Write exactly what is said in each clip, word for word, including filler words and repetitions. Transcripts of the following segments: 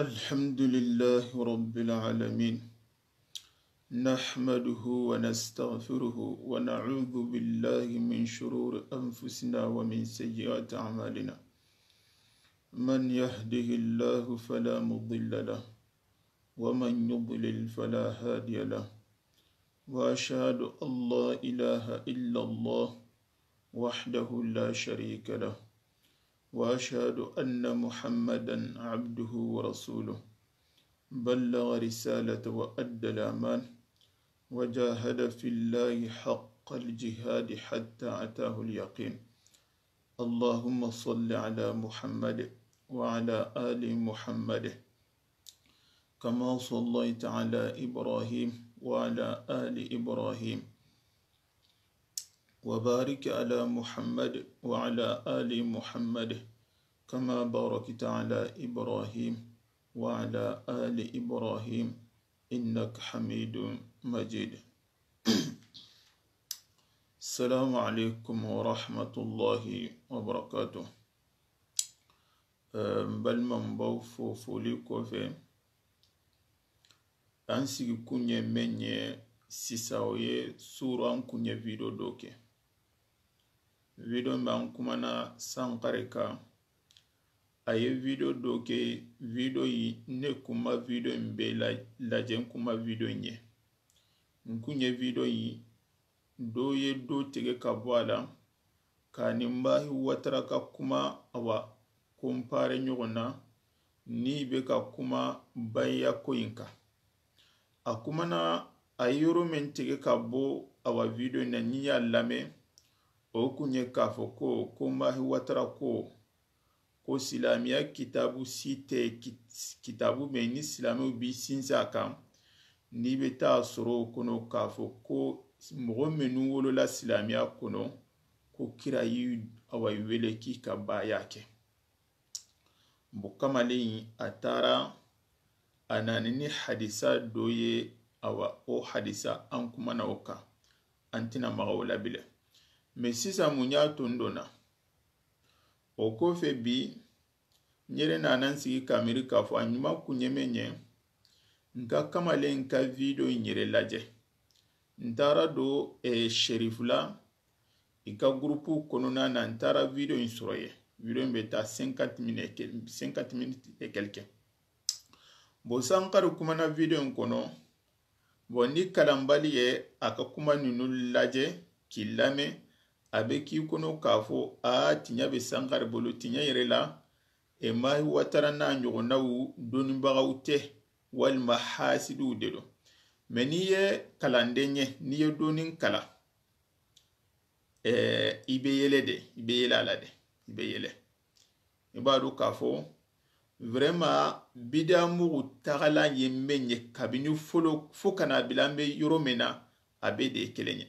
الحمد لله رب العالمين. نحمده ونستغفره ونعوذ بالله من شرور أنفسنا ومن سيئات أعمالنا. من يهده الله فلا مضل له، ومن يضلل فلا هادي له. وأشهد أن لا إله إلا الله وحده لا شريك له، وأشهد أن محمدا عبده ورسوله، بلغ رسالة وأدى الأمان، وجاهد في الله حق الجهاد حتى أتاه اليقين. اللهم صل على محمد وعلى آل محمد، كما صليت على إبراهيم وعلى آل إبراهيم، وبارك على محمد وعلى آل محمد، كما باركت على إبراهيم وعلى آل إبراهيم، إنك حميد مجيد. السلام عليكم ورحمة الله وبركاته. Eh, n balima n baw fo foli kofe, an sigi kuɲe me ɲe sisa, o ye suran kuɲe video do ke. Video be an kumana Sankare ka, a ye video do ke. Video yi ne kuma video be la, lajen kuma video ɲe. N kuɲe video yi do ye do tege ka bo a la, ka ni Mbahi Watara ka kuma, awa, compare ɲogon na ni be ka kuma baya koyinka. A kumana a yoro men tege ka bo, awa, video na ni ya lame, o kuɲe ka fo ko, ko Mbahi Watara ko, ko silamiya kitabu site kit-, kitabu me ni silamiw bi sinsa kan, ni be ta soro kono ka fo ko mogo menu wolola silamiya kono, ko kira yi, awa, wele ki ka baya ke. Bo kamalen a tara, a nani ni hadisa do ye, awa, o hadisa an kumana o ka, an tina maxa o labile. Mais sisa muɲa tondona. O kofe bi, n yere na nan sigi kamiri ka fo a ɲuma kuɲeme ɲe, n ka kamalen ka video n yere laje. N tara do, eh, Sherifula, i ka groupe kono na, na n tara video in soroye. Video in be ta cinquante minutes et quel-, cinquante minutes et quelques. Bo Sankare kumana video in kono, bon, ni kalanbali ye a ka kuma ninu laje, ki lame, a be ki kono ka fo, a tiɲa be Sankare bolo, tiɲa yere la, e Mbahi Watara na ɲogon na wu doni baxaw te, walima hasidu de do. Mais ni ye kalande ɲe, ni ye donin kala, eh, i be yele de, i be yele a la de, i be yele. I b'a dɔn k'a fɔ, vraiment, bida mugu tagala ye men ye kabini folo fo kana bila n be yɔrɔ min na, a be de kelen ye.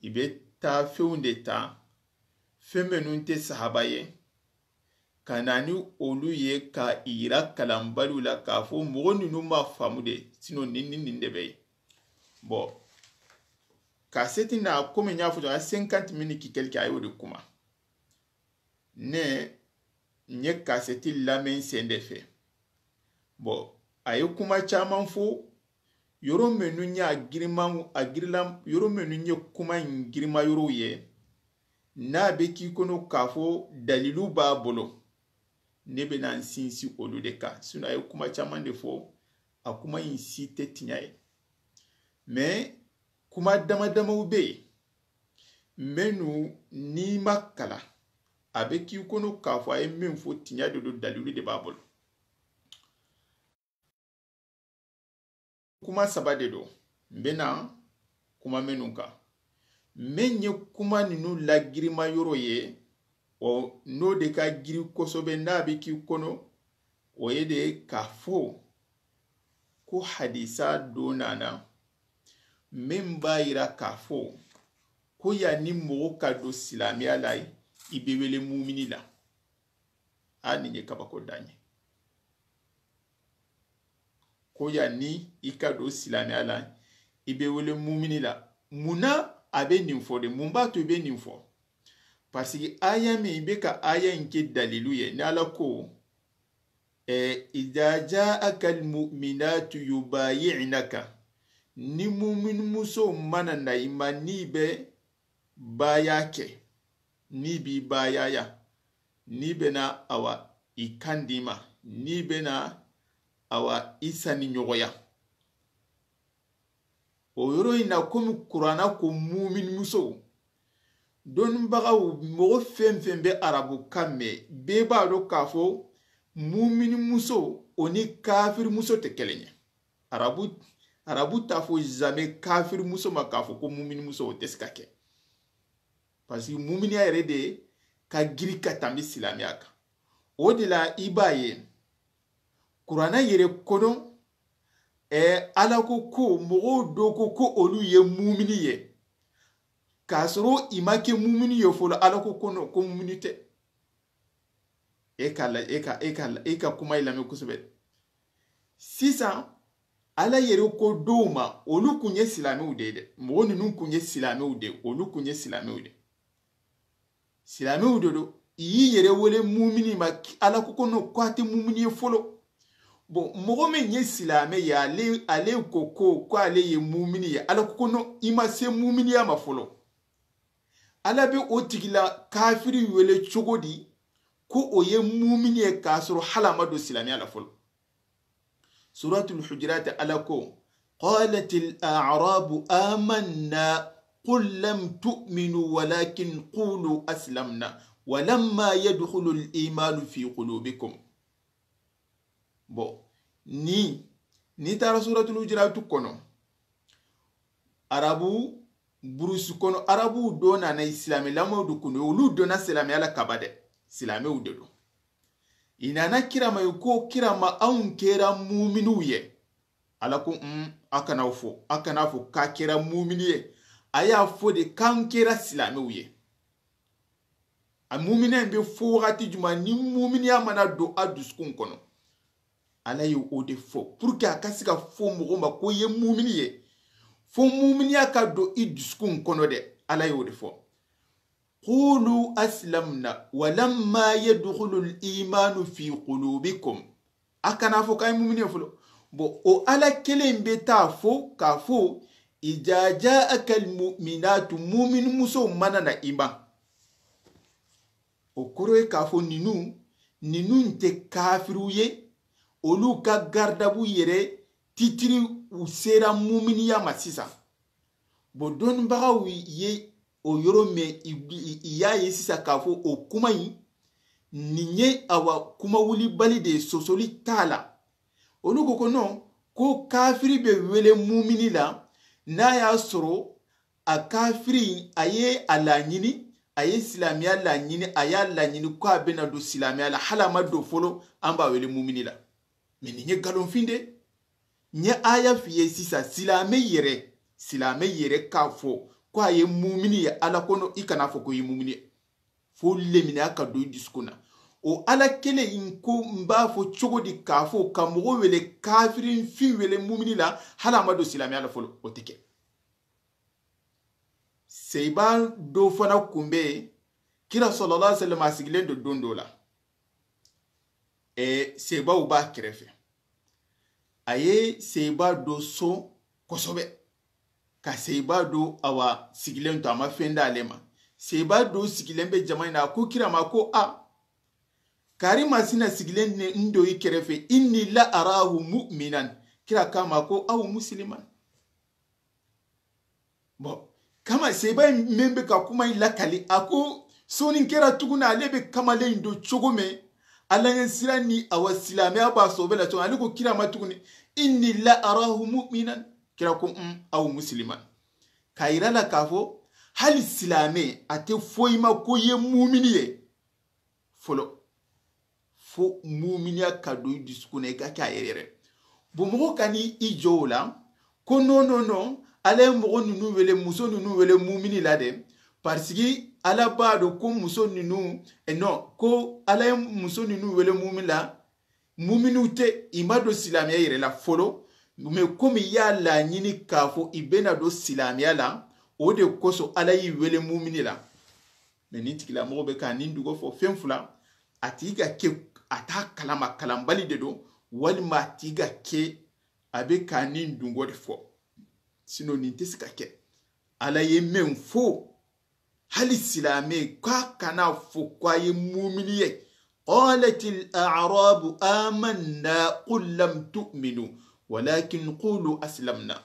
I be taa fɛnw de ta, fɛn minnu tɛ sahaba ye, ka na ni olu ye, ka i yira kalanbaliw la, k'a fɔ mɔgɔ ninnu ma faamu de, sinon nin, nin, nin de bɛ yen. Bon, kaseti na, comme n y'a fɔ, a cinquante minutes ki quelque, a y'o de kuma. Ne, n ye kaseti lamɛn sen de fɛ. Bon, a ye kuma caman fɔ, yɔrɔ minnu ye a girima, a girila, yɔrɔ minnu ye kuma in girima yɔrɔw ye, n'a bɛ k'i kɔnɔ k'a fɔ dalilu b'a bolo, ne bɛna n sinsin olu de kan. Sinon, a ye kuma caman de fɔ, a kuma in si tɛ tiɲɛ ye. Mais kuma dama damaw bɛ yen, minnu n'i ma kalan, a bɛ k'i kɔnɔ k'a fɔ a ye min fɔ, tiɲɛ de don, dalilu de b'a bolo. Kuma saba de don, n bɛna kuma minnu kan. Min ye kuma ninnu lagirima yɔrɔ ye, o n'o de ka giri kosɛbɛ, n'a bɛ k'i kɔnɔ, o ye de k'a fɔ ko hadisa dɔ nana, min b'a jira k'a fɔ ko yanni mɔgɔ ka don silamɛya la, i bɛ wele mumini la. A, nin ye kabako dan ye. Ko yanni i ka don silamɛya la, i bɛ wele mumini la. Munna a bɛ nin fɔ de? Mun b'a to i bɛ nin fɔ? Parce que aya min, i bɛ ka aya in kɛ dalilu ye, ni Ala ko, E, "Idha ja'aka al-mu'minatu yubayi'naka." Ni mumin muso mana na i ma, ni be baya ke, ni bi baya ya, ni be na awa i kandi ma, ni be na awa i sani ɲogoya. O yoro i na komi Qur'ana ko mumin muso. Don bagaw, mogo fen fen be Arabu kamme, be ba do k'a fo mumin muso, o ni kafir muso te kelen ye. Arabu, Arabu ta fo jamais kafir muso ma k'a fo ko mumin muso, o te sika ke. Parce que muminiya yere de ka giri ka tambi silamiya kan. O de la i ba ye, Qur'ana yere kono, e, Ala ko ko mogo do ko ko olu ye mumini ye. K'a soro i ma ke mumini ye folo, Ala ko kono ko mumini te. E ka la, e ka, e ka la, e ka kuma i lame kosɛbɛ. Sisan, Ala yere ko do ma, olu kun ye silamew de de. Mogo ninnu kun ye silamew de, olu kun ye silamew de. Silamew de do, i y'i yere wele mumini ma, ki-, Ala ko kono ko a te mumini ye folo. Bon, mogo men ye silame ye, ale, ale ko ko, ko ale ye mumini ye, Ala ko kono i ma se muminiya ma folo. Ala be o tigila kafiri wele cogo di, ko o ye mumini ye k'a soro halama do silamiya la folo. Suratul Hujurat, Ala ko, "Qalatil a'rabu amanna, qul lam tu'minu walakin qulu aslamna, walamma yadkhulul imanu fi qulubikum." Bon, ni, ni taara Suratul Hujurat kono, Arabu burusu kono, Arabu do nana i silame lamo du kunu, olu do na silame Ala kaba de, silamew de do. I nana kira ma yi ko, kira ma, an kera muminiw ye. Ala ko, mm, a kana fo, a kana fo ka kera mumini ye. A y'a fo de kan kera silamew ye. A mumina be fo wakati juma ni muminiya mana do a dusukun kono. Ala ye o de fo pour que a ka se ka fo mogo ma ko ye mumini ye. Fo muminiya ka do i dusukun kono de. Ala ye o de fo. "Qulu aslamna walamma yadkhulul imanu fi qulubikum." A kana fo kay mumini folo. Bon, o Ala kelen be ta fo, ka fo, "Idha ja'aka al-mu'minatu", mumin muso mana na i ma. O koro ye ka fo ninu, ninu nte kafiru ye, olu ka gardabu yere titiri u sera muminiya ma sisa. Bon, donibagaw ye o yoro me, i, i, i y'a ye sisa k'a fo o kuma in, nin ye awa kuma wulibali de sosoli t'a la. Olu ko ko non, ko kafiri be wele mumini la, n'a y'a sɔrɔ a kafiri, a ye a laɲini, a ye silamiya laɲini, a y'a laɲini ko a bɛna don silamiya la, hali a ma don fɔlɔ, an b'a wele mumini la. Mais nin ye nkalonfin de. N ye aya f'i ye sisan, silame yere, silame yere k'a fɔ ko a ye mumini ye, Ala kono, i kana fɔ ko i ye mumini ye. Fo lemina ka don i dusukun na. O Ala kelen in ko, n b'a fɔ cogo di k'a fɔ ka mɔgɔ wele kafirin fi wele mumini la, hali a ma don silamiya la fɔlɔ, o tɛ kɛ. Seba do fana kun bɛ, kira sallallahu alaihi wasallam a sigilen don don dɔ la. E, sebaw b'a kɛrɛfɛ. A ye seba do sɔn kosɛbɛ. Ka seba do awa sigilen to, a ma fɛn d'ale ma. Seba do sigilen bɛ jama in na, a ko kira ma ko, a, kari masina sigilen ne n do i kɛrɛfɛ, inni la arahu mu'minan. Kira k'a ma ko, aw musliman. Bon, kama seba in men bɛ ka kuma in lakali, a ko soni kɛra tuguni, ale bɛ kamalen in don cogo mɛ, Ala ɲɛ sira ni awa silamiya b'a sɔbɛ la cogo, ale ko kira ma tuguni, inni la arahu mu'minan. Kira ko, mm, aw musliman. Ka yira la k'a fɔ, hali silame, a tɛ foyi ma ko ye mumini ye. Fɔlɔ. Fo muminiya ka don i dusukun na, i ka kɛ a yɛrɛ yɛrɛ. Bon, mɔgɔ ka ni i jɔ o la, ko non, non, non, Ala ye mɔgɔ ninnu wele, muso ninnu wele mumini la de, parce que Ala b'a dɔn ko muso ninnu, eh, non, ko Ala ye muso ninnu wele mumini la, muminiw tɛ, i ma don silamiya yɛrɛ la fɔlɔ, mais comme i y'a laɲini k'a fɔ i bɛna don silamiya la, o de kosɔn Ala y'i wele mumini la. Mais nin tigilamɔgɔ bɛ ka nin dugo fɔ fɛn fila, A ti ga ke, a ta kalama, kalanbali de do, walima a ti ga ke, a be ka nin dungo de fo. Sinon, nin te sika ke. Ala ye men fo, hali silame, ka kana fo ko a ye mumini ye. قالت الأعراب آمنا قل لم تؤمنوا ولكن قولوا أسلمنا.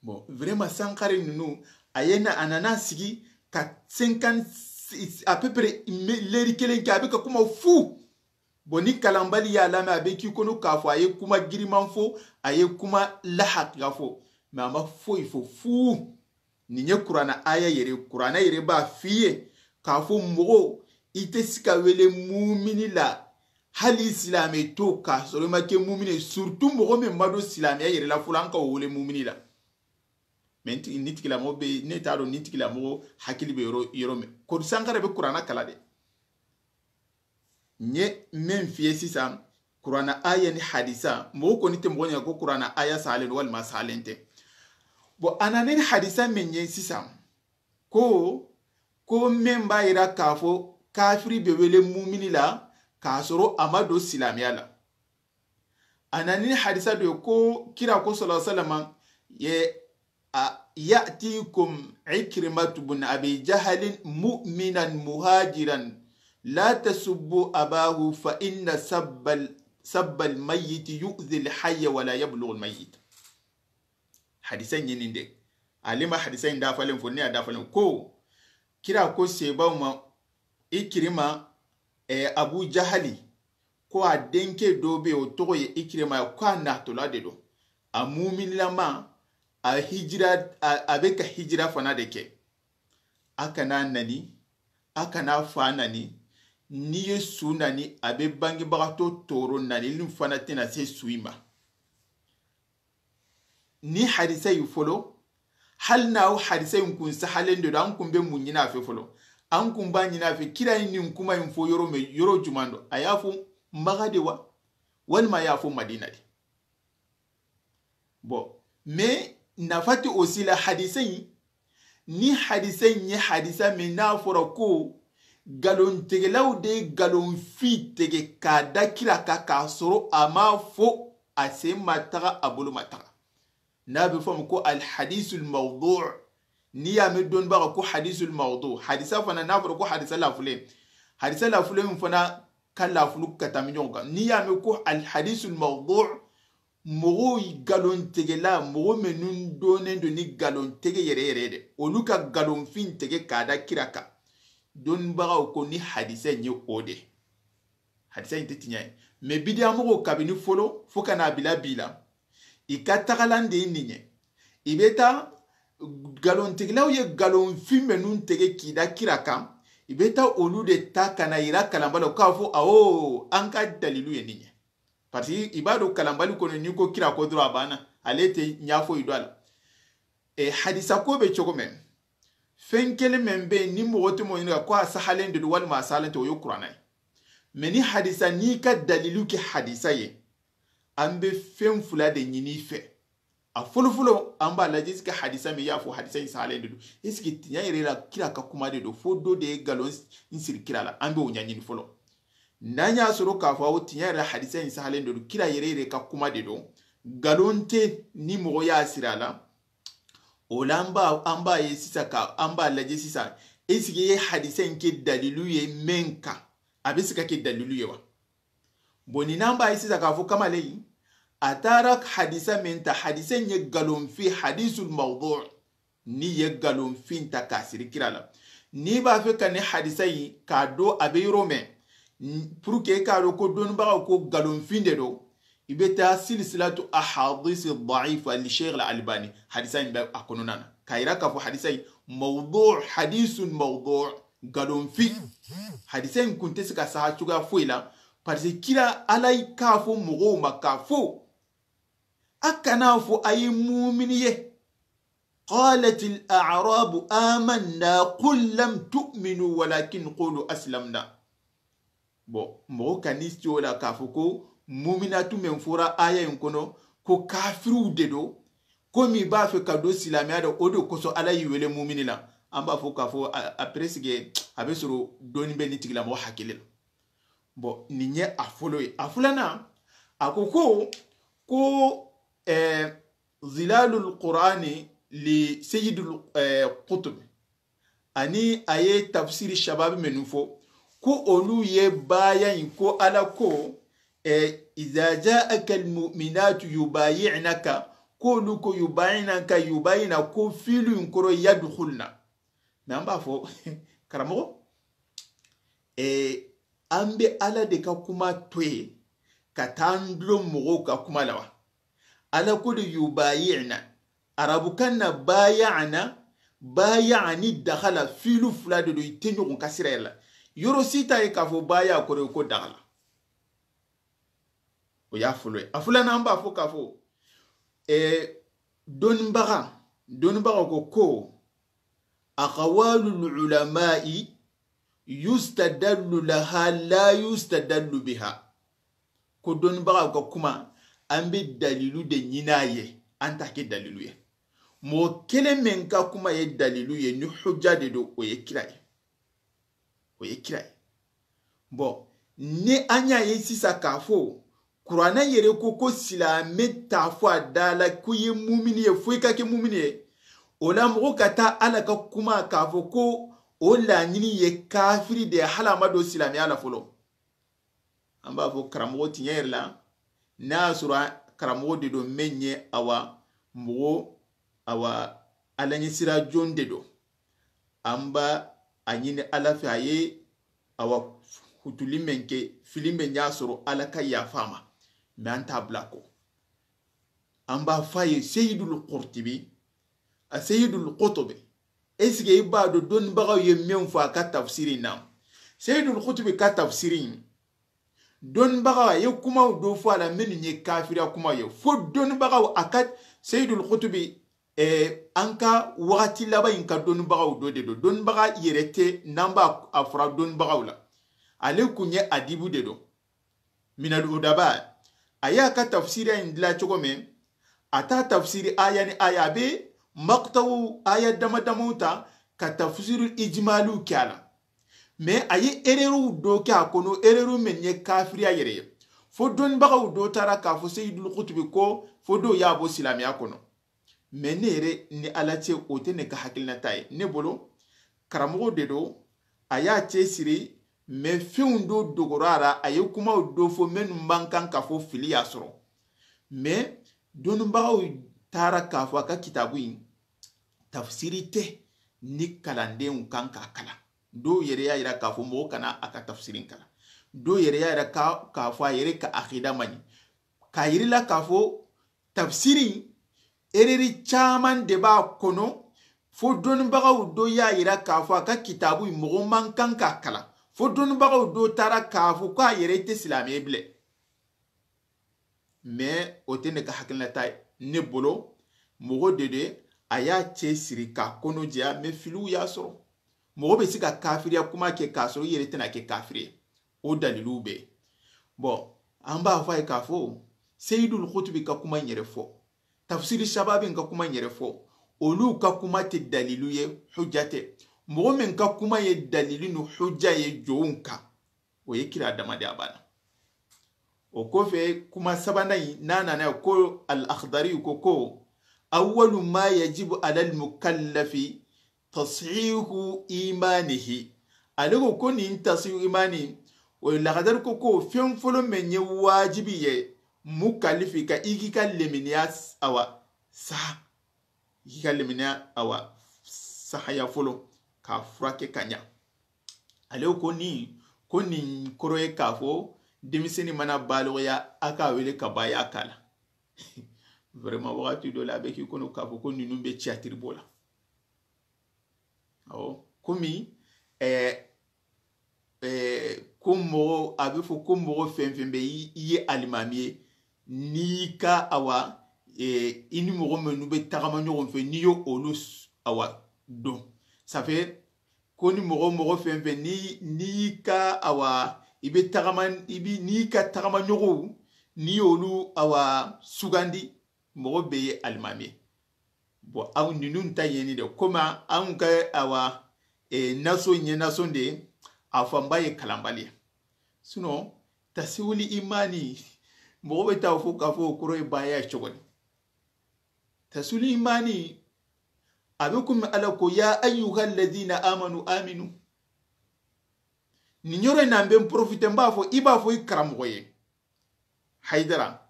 Bon, vraiment, Sankare nunu, a ye na, a nana sigi ka cinquante, à peu près, me-, leri kelen ke, a be ka kuma fu. Bon, ni kalanbali ya lame, a be ki kono ka fo, a ye kuma giriman fo, a ye kuma lahaqiqa fo. Mais a ma foyi fo fu. Ni ye Kurana aya yere, Kurana yere ba fiye, ka fo mogo, i te sika wele mumini la, hali silame to, ka soro i ma ke mumini, surtout mogo men ma do silame ya yere la, fulan ka wele mumini la. Mais nti-, ni tigila mogo be, ne ta do ni tigila mogo hakili be yoro, yoro me. Ko Sankare be Kurana kala de. Nye men fiye sisan, Kurana aya ni hadisa, mogo ko ni te mogo ɲa ko Kurana aya salen walima salente. Bon, a na ni hadisa men ye sisan, ko, ko men ba yira ka fo kafiri be wele mumini la, ka soro a ma do silamiya la. A na ni hadisa do ko kira ko sallallahu alaihi wasallam ye, a, يأتيكم عكرمة بن أبي جهل مؤمنا مهاجرا لا تسبوا أباه فإن سب ال-، سب الميت يؤذي الحي ولا يبلغ الميت. Hadisa ɲininde. Alima hadisa in dafalen fo, ne a dafalen ko, kira ko seba ma Ikirima, e, Abu Jahali, ko a denke do be o togo ye Ikirima, ko a natola de do. A muminilama, a hijira, a, a be ka hijira fana de ke. A kana nani, a kana fa nani, ni ye su nani, a be bangebagato toro nani, lin fana tena se su i ma. Ni hadisa yi folo, hal na o hadisa yi kun sahalen do, an kun be mun ɲina fe folo. An kun ba ɲina fe, kira yi nin kuma yi fo yoro me, yoro jumando. A ya fo Maga de wa, walima a ya fo Madina de. Bon, mais nafati aussi la hadisa yi, ni hadisa yi hadisa me na fora ko, galon tegelaw de galon fi tege ka da kira ka, ka soro a ma fo a se ma taga, a bolo ma taga. Na be fo ko al hadisul mawdu'. Ni ya me don ba ko hadisul mawdu'. Hadisa fana na fora ko hadisa la fule. Hadisa la fule mun fana ka la fulu ka tami ɲogo kan. Ni ya me ko al hadisul mawdu', mogo galon tegela, mogo menun donen do ni galon tege yere yere de. Olu ka galon fin tege ka da kira ka. Don bagaw ko ni hadisa ɲe o de. Hadisa inte tiɲa ye. Mais bidiya mogo kabini folo, fo kana bila bila. I ka tagalande ni ɲe. I be ta galon tegelaw ye galon fin menun tege ki da kira kan. I be ta olu de ta kana ira kalambalo ka fo, awo, an ka dalilu ye ni ɲe. Parce que i ba do kalambali kono ni ko kira ko dura bana, ale te ɲa fo i do ala. E, hadisa ko be cogo men. Fen kele men be ni mogo te mo ɲininka ko a sahalen de do walima a salante, o yo Kurana ye. Mais ni hadisa ni ka dalilu ke hadisa ye, an be fen fula de ɲini fe. A folo folo, an ba laje sika hadisa me ya fo hadisa in sahalen de do. Est-ce que tiɲa yere la kira ka kuma de do? Fo do de galon s-, in siri kira la. An be o ɲa ɲini folo. Na ɲa soro ka fo o tiɲa yere la hadisa in sahalen de do. Kira yere yere ka kuma de do. Galon te ni mogo ya sira la. O la an ba, an ba ye sisa ka, an ba laje sisa. Est-ce que ye hadisa in ke dalilu ye men ka? A be sika ke dalilu ye wa? Bon, ni nan ba ye sisa ka fo kamale yi. A tara hadisa men ta, hadisa in ye galon fi, hadisul mawdu'. Ni ye galon fin ta ka siri kira la. Ni ba fe ka ni hadisa yi ka do a be yoro me. N-, pour que ka do ko don ba ko galon fin de do. I be ta silsilatu ahadisi da'ifa li Sheikh al-Albani. Hadisa in be a kono nana. Ka ira ka fo hadisa yi mawdu', hadisun mawdu', galon fi. Hadisa in kun te sika saha cogoya foyi la. Parce que kira Ala yi ka fo mogo ma ka fo. A kana fo a yi mumini ye. قالت الأعراب آمنا قل لم تؤمنوا ولكن قولوا أسلمنا. Bon, mogo kani siola ka fo ko muminatu men fora aya in kono, ko kafiru de do, ko mi ba fe ka do silamiya do, o do koso Ala yi wele mumini la. An ba fo ka fo, a, après que A be soro doni be ni tigila mo hakile. Bon, ni ɲe a folo ye. A fulana, a ko ko, ko, eh, Zilalul Qur'ani li Sayyidul, eh, Qutb. Ani a ye tafsiri shababi menu fo, ko olu ye baya in ko Ala ko, eh, "Iza ja'aka al-mu'minatu yubayi'naka," ko olu ko yubayi'naka, yubayi'na ko filu in koro yadkhulna. Mais an b'a fo, karamogo, eh, an be Ala de ka kuma toye, ka tan dulo mogo ka kuma lawa. Ala ko de yubayi'na. Arabu kan na baya'na, baya'ani dakhala, filu fula de do, i te ɲogon kasira yalla. Yoro sita ye ka fo baya kore ko dakhala. O ya fulo ye. A fulana an b'a fo ka fo, e, donbaga, donbaga ko ko, aqwalul ulama'i yustadallu laha la yustadallu biha. Ko donbagaw ka kuma, an be dalilu de ɲina ye, an ta ke dalilu ye. Mo kele men ka kuma ye dalilu ye, ni hujja de do, o ye kira ye. O ye kira ye. Bon, ni an ya ye sisa ka fo, Kurana yere ko, ko silame ta fo a dala ko ye mumini ye, fo i ka ke mumini ye. O la mogo ka ta Ala ka kuma ka fo ko o laɲini ye kafiri de, hala ma do silame Ala folo. An b'a fo karamogo tiɲɛ yɛrɛ la, n'a sɔrɔ karamogo de do, men ye awa mogo, awa Ala ɲɛ sira jon de do. An ba a ɲini Ala fɛ, a ye awa hutuli men ke, fili men y'a sɔrɔ, Ala ka yafa ma. Mais an t'a bila ko. An b'a fɔ a ye, Seyidul Qurtubi, a Seyidul Qutubi, est-ce que i b'a dɔn donibagaw ye men fɔ a ka tafsiri in na? Seyidul Qutubi ka tafsiri in, donibagaw, a ye kumaw do fɔ a la, minnu ye kafiriya kumaw ye. Fo donibagaw, a ka, Seyidul Qutubi, eh, an ka wagati laban in ka donibagaw do de do. Donibaga yɛrɛ tɛ, n'an b'a a fɔra donibagaw la. Ale kun ye adibu de do. Minal udaba. A y'a ka tafsiri in dilan cogo min, a ta tafsiri aya ni aya, a bɛ maqtaw aya dama damaw ta ka tafsiru ijmalu kɛ a la. Mais a ye erreur do kɛ a kɔnɔ, erreur men ye kafiriya yɛrɛ ye. Fo donibagaw do taara k'a fɔ Seyidul Qutubi ko, fo do y'a bɔ silamɛya kɔnɔ. Mais ne yɛrɛ ni Ala cɛ, o tɛ ne ka hakilinata ye. Ne bolo, karamogo de do, a y'a cɛ siri, mais fɛnw do dogora a la, a ye kumaw do fɔ, minnu man kan ka fɔ, fili y'a sɔrɔ. Mais donibagaw taara k'a fɔ a ka kitabu in, tafsiri tɛ ni kalandenw kan k'a kalan. Dɔw yɛrɛ y'a jira k'a fɔ mɔgɔ kana a ka tafsiri kalan. Dɔw yɛrɛ y'a jira k'a, k'a fɔ a yɛrɛ ka akida man ɲi. K'a jira i la k'a fɔ tafsiri, erreur caman de b'a kɔnɔ, fo donibagaw do y'a jira k'a fɔ a ka kitabu mɔgɔ man kan k'a kalan, fo donibagaw do taara k'a fɔ ko a yɛrɛ tɛ silamɛ ye bilen. Mais o tɛ ne ka hakilinata ye. Ne bolo, mɔgɔ de do, a y'a cɛ siri k'a kɔnɔ jɛya, mais filiw y'a sɔrɔ. Mɔgɔ bɛ se ka kafiriya kuma kɛ k'a sɔrɔ i yɛrɛ tɛna kɛ kafiri ye. O dalilu bɛ. Bon, an b'a fɔ a ye k'a fɔ, Seyidul Qutubi ka kuma in yɛrɛ fɔ, Tafsiri Shababi ka kuma in yɛrɛ fɔ, olu ka kuma tɛ dalilu ye, hujja tɛ. Mɔgɔ min ka kuma ye dalilu ni hujja ye jɔnw kan, o ye kira dama de, a banna. O kɔfɛ, kuma sabanan in, n'a nana ko Al-Akhdari ko, ko, "Awwalu ma yajibu alal mukallafi tashihu imanihi." Ale ko, ko nin tashihu imani, o ye Laxadari ko, ko fɛn fɔlɔ min ye wajibi ye, mukalifi ka, i k'i ka leminiya s-, awa, sa, i k'i ka leminiya, awa, sahaya fɔlɔ, k'a furakɛ ka ɲa. Ale ko ni, ko nin kɔrɔ ye k'a fɔ, denmisɛnnin mana baloya, a k'a wele ka baya k'a la. Vraiment, wagati dɔ la, a bɛ k'i kɔnɔ k'a fɔ ko ninnu bɛ théâtre bɔ la. Awɔ, komi, eh, eh, ko mɔgɔ, a bɛ fɔ ko mɔgɔ fɛn fɛn bɛ, i, i ye alimami ye, n'i ka, awa, eh, i ni mɔgɔ minnu bɛ tagama ɲɔgɔn fɛ, n'i ye olu s-, awa, dɔn. Ça fait, ko ni mɔgɔ, mɔgɔ fɛn fɛn, ni, n'i ka, awa, i bɛ tagama, i bi, n'i ka tagama ɲɔgɔnw, n'i y'olu, awa, sugandi, mɔgɔ bɛ ye alimami ye. Bon, aw ninnu ta ɲɛni de, komi anw ka, awa, E naso ɲe nasonde, a fanba ye kalanbaliya. Sinon, tasiwuli imani, moxo be ta fo ka fo koroye baya cogoni. Tasiwuli imani, a be kun Ala ko, ya ayyuha alladhina amanu aminu. Ni ɲoro nan ben profite mba fo, i ba fo i karamoxo ye. Haydara,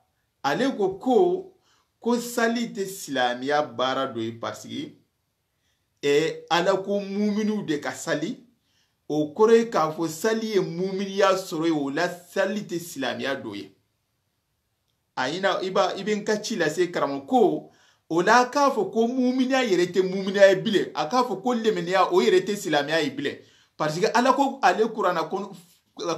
ale ko ko, ko sali te silamiya bara do yi parce que, e, Ala ko muminu de ka sali, o koroye ka fo sali ye muminiya soro ye, o la sali te silamiya do ye. A ina, i ba, i be n ka ci lase karamo ko, o la ka fo ko muminiya yere te muminiya ye bile, a ka fo ko leminiya o yere te silamiya ye bile. Parce que Ala ko ale Kurana kono,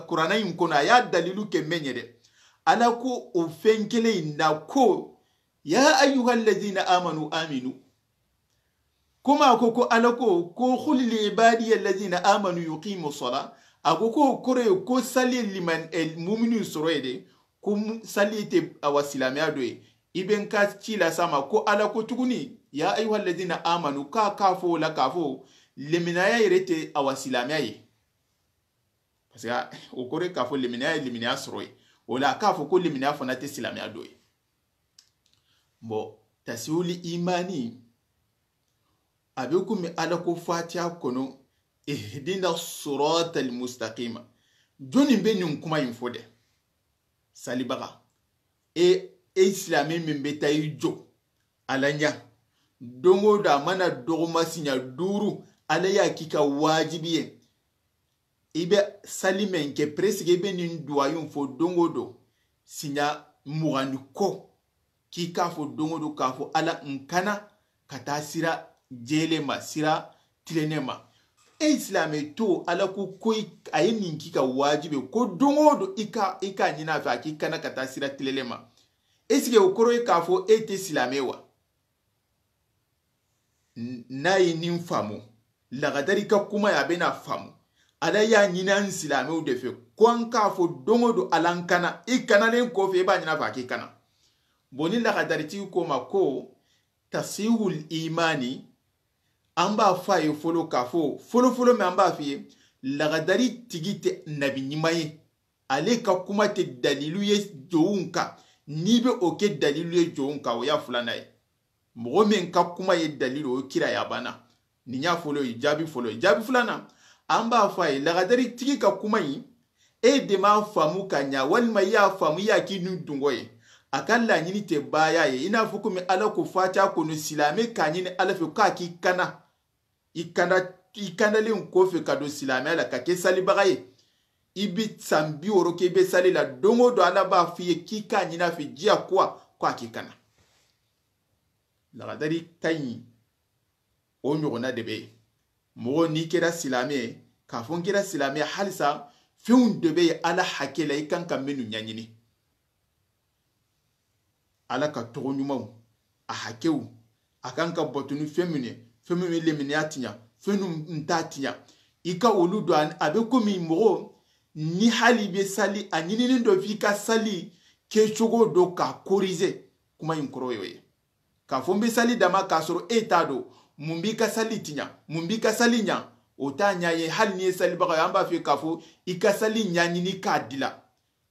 Kurana in kono, a ya dalilu ke meɲe de. Ala ko o fenkele inda ko, ya ayyuha alladhina amanu aminu. Kuma ko, ko Ala ko, ko qul li ibadiya alladhina amanu yuqimu sala. A ko, ko kore, ko sali liman, el muminu soro ye de, ko mu-, sali te awa silamiya do ye. I be n ka ci lasa ma, ko Ala ko tuguni, ya ayyuha alladhina amanu, ka, ka fo la ka fo, leminaya yere te awa silamiya ye. Parce que o kore ka fo leminaya, leminaya soro ye. O la ka fo ko leminaya fana te silamiya do ye. Bon, tasiwuli imani, a be kun mi Ala ko Fatiha kono, ihdina sirata almustaqima. Joni be ɲin kuma in fo de? Salibaga. E, e silame min be ta i jo. Ala ɲa. Dongo da mana dogoma siɲa duru. Ala ya ki ka wajibi ye. I be sali men ke, presque i be nin duwayun fo dongo do, siɲa mugani ko, ki ka fo dongo do, ka fo Ala n kana ka ta sira jele ma, sira tilene ma. E silame to, Ala ku koy, a ye nin ki ka wajibe, ko dongo do i ka, i ka ɲina fe, a ki kana ka ta sira tilele ma. Est-ce que o koro i ka fo e te silame wa? N-, na yi nin famu. Lagadari ka kuma ya be na famu. Ala ya ɲina n silamew de fe. Ko an ka fo dongo do Ala n kana. I kana len ko fe, i ba ɲina fa ki kana. Boni lagadari ti ko ma ko tasihul imani. An ba fa ye folo ka fo. Folo folo me an ba fi ye. Lagadari tigi te nabi ɲima ye. Ale ka kuma te dalilu ye jowun ka. Ni be o ke dalilu ye jowun ka, o ya fulana ye. Moxo men ka kuma ye dalilu, o kira ya bana. Ni ɲa folo, i jaabi folo. I jaabi fulana, an ba fa ye, lagadari tigi ka kuma yi, e de ma famu ka ɲa, walima i ya famu, i ya ki nu dungo ye. A ka laɲini te baya ye, i na fo ko mi Ala ko Fatiha kono silame ka ɲini Ala fe ka ki kana. I kanda, i kandalen ko fe ka do silame la, ka ke salibaga ye. I bi san bi woro ke be sali la, dongo do Ala ba fi ye ki ka ɲina fe jiya kwa, kwa ki kana. Lagadari tayi, o ɲogona de be. Moxo ni kera silame, ka fo n kera silame, halisa, fewun de be Ala hakela, i kan ka menu ɲaɲini. Ala ka toxo ɲumaw, a hakew, a kan ka batunu femine, femine lemine a tiɲa, fenu nta tiɲa. I ka olu do an, a be komi moxo, ni hali be sali, a ɲininin do fi ka sali, ke cogo do ka korize, kuma in koro yo ye. Ka fo n be sali dama ka soro e ta do, mun bi ka sali tiɲa, mun bi ka sali ɲa, o ta ɲa ye, hali ni ye sali baga, an ba fe ka fo, i ka sali ɲaɲini ka dila.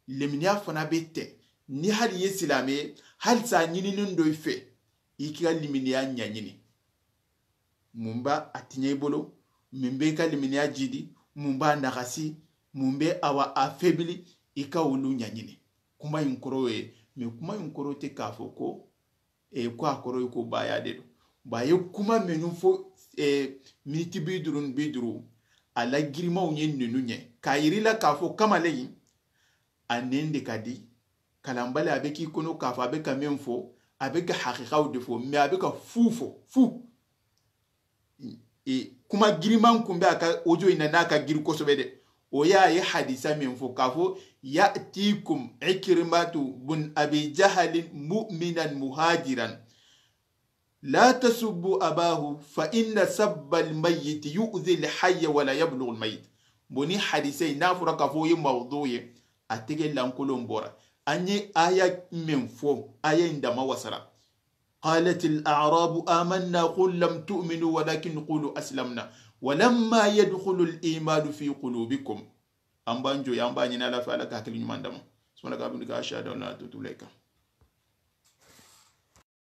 Leminiya fana be te. Ni hali ye silame, hali sa ɲininin do i fe, i ki ga leminiya ɲaɲini. Mun ba a tiɲe i bolo, mun be ka leminiya jidi, mun ba naxasi, mun be awa a febili, i ka wulu ɲaɲini. Kuma in koro ye, mais kuma in koro te ka fo ko, e, ko a koro ko baya de do. Baye kuma menu fo, e, miniti bidurun biduru, a la girimaw ɲe nenu ɲe. Ka yiri la ka fo kamaleyi, a nende ka di, kalambale a be ki kono ka fo, a be ka men fo, a be ka haqiqaw de fo, mais a be ka fu fo, fu. E, kuma giriman kun be a ka ojo ina na ka giri kosobe de. O ya ye hadisa men fo ka fo, ya'tikum Ikrimatu bun Abi Jahalin mu'minan muhajiran. La tasubbu abahu fa inna sabbal mayyit yu'zi al hayya wa la yablughu al mayyit. Boni hadise na fura ka fo ye mawdu ye, a tege lankolon bora. Anye aya men fo, aya indama wasara. قالت الأعراب آمنا قل لم تؤمنوا ولكن قولوا أسلمنا Walamma yadkhulu al-imanu fi qulubikum. An ban jo, an ba ɲini Alla fe, Alla ka hakili ɲuman dama. Sumana ka bundi ka ashhadu an la ilaha illa anta.